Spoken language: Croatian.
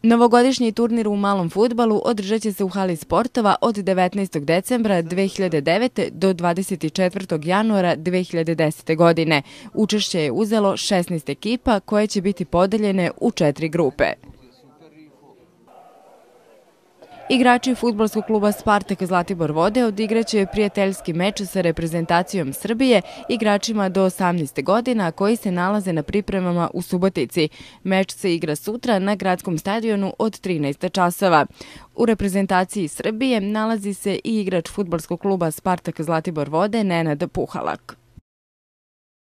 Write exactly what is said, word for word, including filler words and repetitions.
Novogodišnji turnir u malom fudbalu održat će se u hali sportova od devetnaestog decembra dve hiljade devete. do dvadeset četvrtog januara dve hiljade desete. godine. Učešće je uzelo šesnaest ekipa koje će biti podeljene u četiri grupe. Igrači fudbalskog kluba Spartak Zlatibor Vode odigraće prijateljski meč sa reprezentacijom Srbije, igračima do osamnaeste godina koji se nalaze na pripremama u Subotici. Meč se igra sutra na gradskom stadionu od trinaest časova. U reprezentaciji Srbije nalazi se i igrač fudbalskog kluba Spartak Zlatibor Vode Nenad Puhalak.